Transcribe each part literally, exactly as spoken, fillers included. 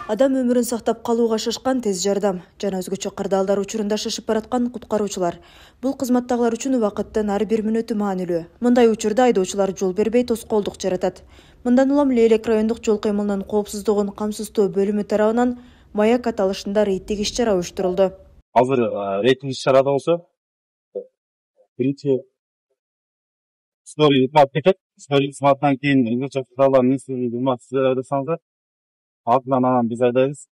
Адам өмүрүн сактап калууга шашкан тез жардам жана өзгөчө кырдаалдар учурунда шашып бараткан куткаруучулар. Бул кызматтагылар үчүн убакыттын ар бир мүнөтү маанилүү. Мындай учурда айдоочулар жол бербей тоскоолдук жаратат. Мындан улам Лейлек райондук жол кыймылынын коопсуздугун камсыздоо бөлүмү тарабынан Маяк аталышында рейдтик иш-чара уюштурулду. Азыр рейдтик иш-чарада болсо биринчи история итмат кетет. История итматтан кийин өзгөчө кырдаалдар министрлиги ыматсаңыздар. Артынан анан биз айдайбыз.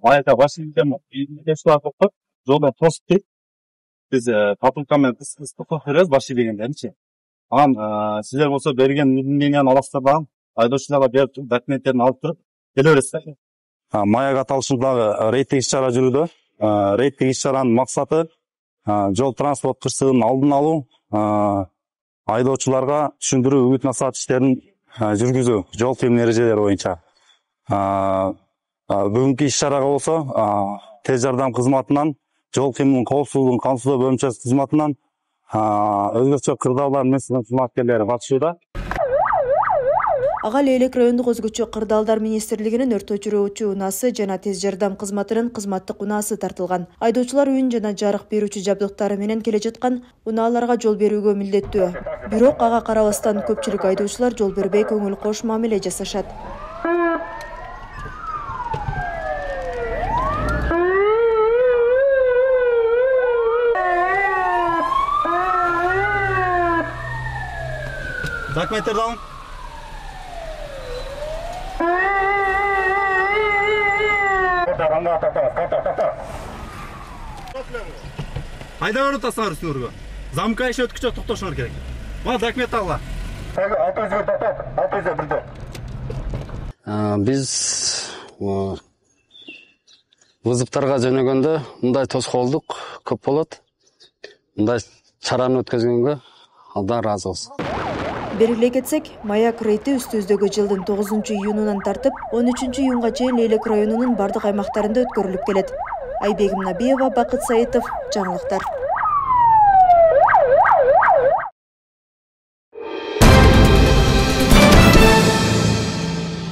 Маякка башкирден кесип токтоп, жолдон тосуп дейт. Биз патрулка менен токтоп беребиз башкирдегендеринчи. Анан силер болсо берген уведомленияны аласыздар дагы айдоочуларга берип туруп, документтерин алып туруп келе бересиздер. Маяк аталышындагы рейдтик иш-чара жүрүүдө. Рейдтик иш-чаранын максаты жол транспорт кырсыгынын алдын алуу, айдоочуларга түшүндүрүү, үгүт насаат иштерин жүргүзүү, жол кыймыл эрежелери боюнча. Бүгүнкү иш-чарага болсо тез жардам кызматынан, жол кыймылынын коопсуздугун камсыздоо бөлүмчөсү кызматынан өзгөчө кырдаалдар менен кызматкерлери катышууда. Ага Лейлек райондук өзгөчө кырдаалдар министрлигинин өрт өчүрүүчү унаасы жана тез жардам кызматынын кызматтык унаасы тартылган. Айдоочулар үн жана жарык берүүчү жабдыктары менен келе жаткан унааларга жол берүүгө милдеттүү. Бирок ага карабастан көпчүлүк айдоочулар жол бербей көңүл кош мамиле жасашат. Документтерди алың. Айда өрүп тастаңар үстүңөргө. Замка иши өткүчө токтошуңар керек. Мына документ алгыла. алты жүзгө токтот, алты жүз бирде. Биз вызовтарга жөнөгөндө мындай тоскоолдук көп болот. Мындай чараны өткөзгөнгө Алдан ыраазыбыз. Белгилей кетсек, Маяк рейти үстүбүздөгү жылдын тогузунчу июнунан тартып, он үчүнчү июнга чейин Лейлек районунун бардык аймактарында өткөрүлүп келет. Айбегим Набиева, Бакыт Саитов, жаңылыктар.